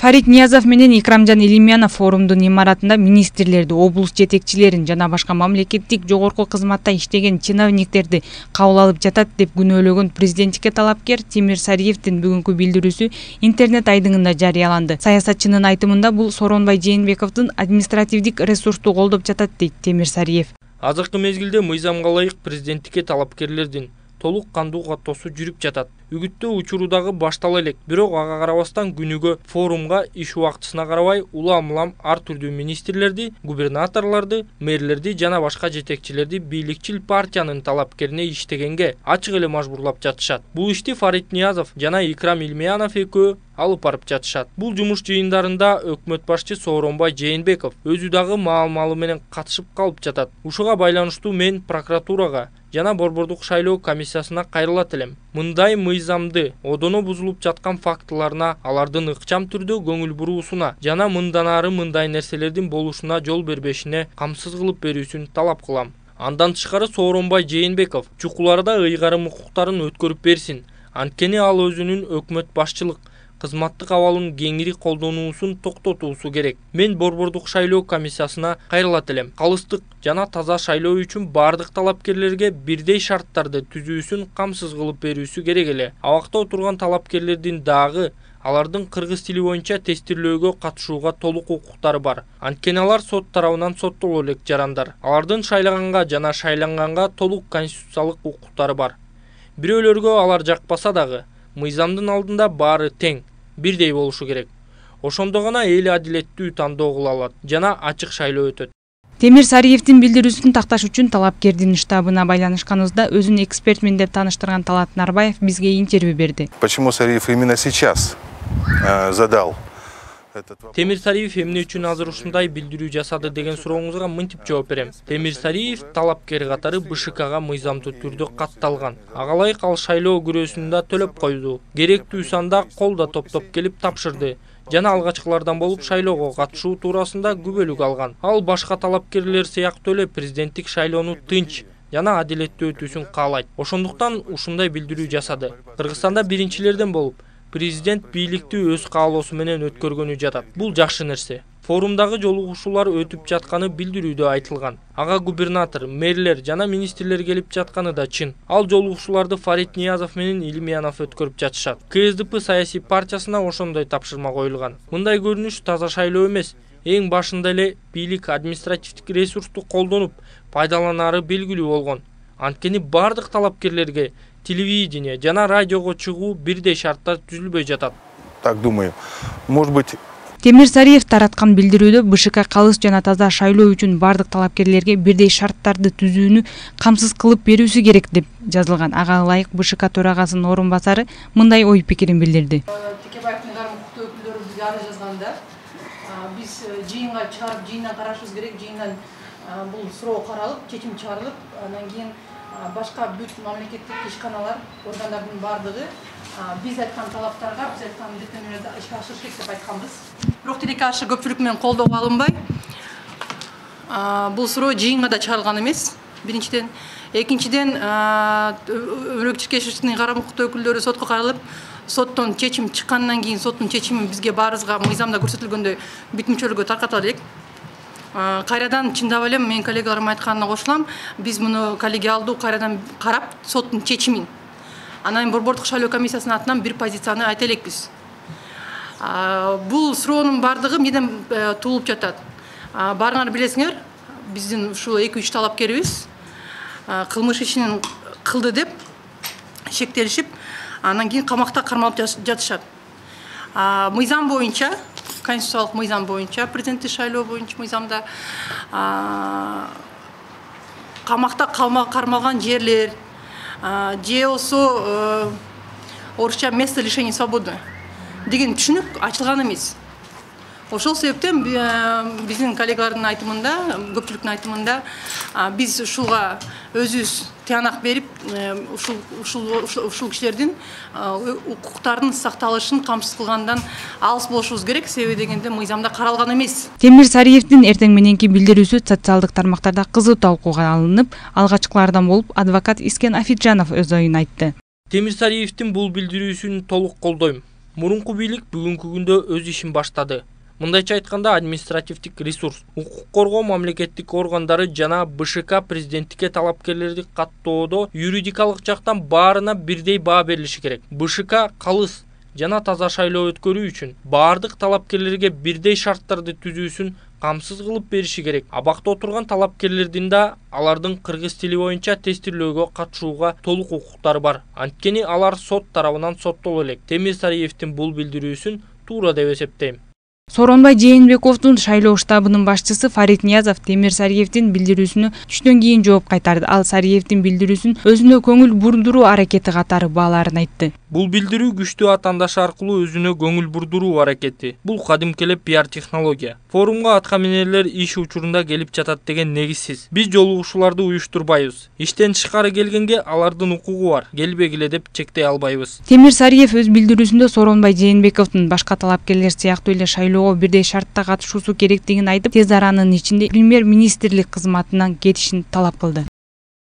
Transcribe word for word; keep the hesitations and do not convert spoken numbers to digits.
Фарид Ниязов менен Икрамжан Илимянов форумдун имаратында министрлерди, облус жетекчилерин жана башка мамлекеттик жогорку кызматта иштеген чиновниктерди кабыл алып жатат деп күнөөлөгөн президенттикке талапкер Темир Сариевдин бүгүнкү билдирүүсү интернет айдыңында жарыяланды. Саясатчынын айтымында бул Сооронбай Жээнбековдун административдик ресурсту колдоп жатат дейт Темир Сариев. Азыркы мезгилде мыйзамга ылайык президенттикке талапкерлердин толук кандуу каттоосу жүрүп жатат. Үгүттөө учуру баштала элек, бирок ага карабастан күнүгө форумга иш убактысына карабай улам-улам ар түрдүү министрлерди, губернаторлорду, мэрлерди жана башка жетекчилерди бийликчил партиянын талапкерине иштегенге ачык эле мажбурлап жатышат. Бул ишти Фарид Ниязов жана Икрам Илимянов экөө алып барып жатышат. Бул жумуш жыйындарында өкмөт башчы Сооронбай Жээнбеков өзү дагы маал-малы менен катышып калып жатат. Ушуга байланыштуу мен прокуратурага жана Борбордук шайлоо комиссиясына кайрылат элем. Мындай мыйзамды одоно бузулуп жаткан фактыларына, алардын ыкчам түрдө көңүл буруусуна жана мындан ары мындай нерселердин болушуна жол бербешине камсыз кылып берүүсүн талап кылам. Андан тышкары Сооронбай Жээнбеков чукуларда ыйгарым укуктарын өткөрүп берсин. Анткени ал өзүнүн өкмөт башчылык кызматтык абалын кеңири колдонуусун токтотуусу керек. Мен Борбордук шайлоо комиссиясына кайрылат элем. Калыстык жана таза шайлоо үчүн бардык талапкерлерге бирдей шарттарды түзүүсүн камсыз кылып берүүсү керек эле. Абакта отурган талапкерлердин дагы алардын кыргыз тили боюнча тестирлөөгө катышууга толук укуктары бар. Анткени алар сот тарабынан соттоло элек жарандар. Алардын шайлаганга жана шайланганга толук конституциялык укуктары бар. Бирөөлөргө алар жакпаса дагы мыйзамдын алдында баары тең, бирдей болушу керек. Ошондо гана эл адилеттүү тандоо кыла алат жана ачык шайлоо өтөт. Темир Сариевдин билдирүүсүн такташ үчүн талапкердин штабына байланышканыбызда өзүн экспертмин деп тааныштырган Талат Нарбаев бизге интервью берди. Почему Сариев именно сейчас задал? Темир Сариев эмне үчүн азыр ушундай билдирүү жасады деген сурооңузга мынтип жооп берем. Темир Сариев талапкер катары БШКга мыйзамдуу түрдө катталган. Ага ылайык ал шайлоо күрөөсүн да төлөп койду. Керектүү санда кол да топтоп келип тапшырды. Жана алгачкылардан болуп шайлоого катышуу туурасында күбөлүк алган. Ал башка талапкерлер сыяктуу эле президенттик шайлоону тынч жана адилеттүү өтүүсүн каалайт. Ошондуктан ушундай билдирүү жасады. Кыргызстанда биринчилерден болуп президент бийликти өз каалоосу менен өткөргөнү жатат. Бул жакшы нерсе. Форумдагы жолугушуулар өтүп жатканы билдирүүдө айтылган. Ага губернатор, мэрлер жана министрлер келип жатканы да чын. Ал жолугушууларды Фарид Ниязов менен Илимянов өткөрүп жатышат. КСДП саясий партиясына ошондой тапшырма коюлган. Мындай көрүнүш таза шайлоо эмес. Эң башында эле бийлик административдик ресурсту колдонуп пайдаланары белгилүү болгон. Анткени бардык талапкерлерге телевидение жана радиого чыгуу бирдей шарттар түзүлбөй жатат. Так думаю. Может быть, Темир Сариев тараткан билдирүүдө БШК калыс жана таза шайлоо үчүн бардык талапкерлерге бирдей шарттарды түзүүнү камсыз кылып берүүсү керек деп жазылган. Ага ылайык БШК төрагасынын орун басары мындай ой пикирин билдирди. Текебаевдин айрым укуктуу өкүлдөрү бизге арыз жазганда, биз жыйынга чыгарып, жыйындан карашыбыз керек, жыйындан бул суроо каралып, чечим чыгарылып, андан кийин башка бүт мамлекеттик ишканалар, органдардын бардыгы биз айткан талаптарга, биз айткан милдеттенүүлөрдө ишке ашырыш керек деп айтканбыз. Бирок тилекке каршы көпчүлүк менен колдоого алынбай, бул суроо жыйынга да чыгарылган эмес. Биринчиден, экинчиден, Өрөк Чиркешевичтин айрым укуктуу өкүлдөрү сотко кайрылып, соттон чечим чыккандан кийин соттун чечими бизге баарыбызга мыйзамда көрсөтүлгөндөй бүт мүчөлөргө таркатыла элек. Кайрадан чындап эле менин коллегаларым айтканына кошулам. Биз муну коллегиалдуу кайрадан карап, соттун чечимин. Анан Борбордук шайлоо комиссиясынын атынан бир позицияны айта элекпиз. Бул суроонун бардыгы эмнеден туулуп жатат? Баарыңар билесиңер, биздин ушул эки үч талапкерибиз кылмыш ишин кылды деп шектелишип, анан кийин камакта кармалып жатышат. Мыйзам боюнча, конституциялык мыйзам боюнча, президенттик шайлоо боюнча мыйзамда камакта кармалган жерлер же болсо орусча место лишения свободы деген түшүнүк ачылган эмес. Ошол себептен биздин коллегалардын айтымында, көпчүлүктүн айтымында биз ушуга өзүбүз тыянак берип, ушул ушул ушул кишилердин укуктарынын сакталышын камсыз кылгандан алыс болушубуз керек, себеби дегенде мыйзамда каралган эмес. Темир Сариевдин эртең мененки билдирүүсү социалдык тармактарда кызуу талкууга алынып, алгачкылардан болуп адвокат Искен Афиджанов өз оюн айтты. Темир Сариевдин бул билдирүүсүн толук колдойм. Мурунку бийлик бүгүнкү күндө өз ишин баштады. Мындайча айтканда, административдик ресурс, укук коргоо мамлекеттик органдары жана Б Ш К президенттикке талапкерлерди каттоодо юридикалык жактан баарына бирдей баа берилиши керек. Б Ш К калыс жана таза шайлоо өткөрүү үчүн баардык талапкерлерге бирдей шарттарды түзүүсүн камсыз кылып бериши керек. Абакта отурган талапкерлердин да алардын кыргыз тили боюнча тестирлөөгө катышууга толук укуктары бар. Анткени алар сот тарабынан соттоло элек. Темир Сариевдин бул билдирүүсүн туура деп эсептейм. Сооронбай Жээнбековдун шайлоо штабынын башчысы Фарид Ниязов Темир Сариевдин билдирүүсүнө түштөн кийин жооп кайтарды. Ал Сариевдин билдирүүсүн өзүнө көңүл бурдуруу аракети катары бааларын айтты. Бул билдирүү күчтүү атаандашы аркылуу өзүнө көңүл бурдуруу аракети. Бул кадимки эле пиар технология. Форумга атка минерлер иш учурунда келип жатат деген негизсиз. Биз жолугушууларды уюштурбайбыз. Иштен тышкары келгенге алардын укугу бар. Келбегиле деп чектей албайбыз. Темир Сариев өз билдирүүсүндө Сооронбай Жээнбековдун башка талапкерлер сыяктуу эле шайлоого бирдей шартта катышуусу керектигин айтып, тез аранын ичинде премьер-министрлик кызматынан кетишин талап кылды.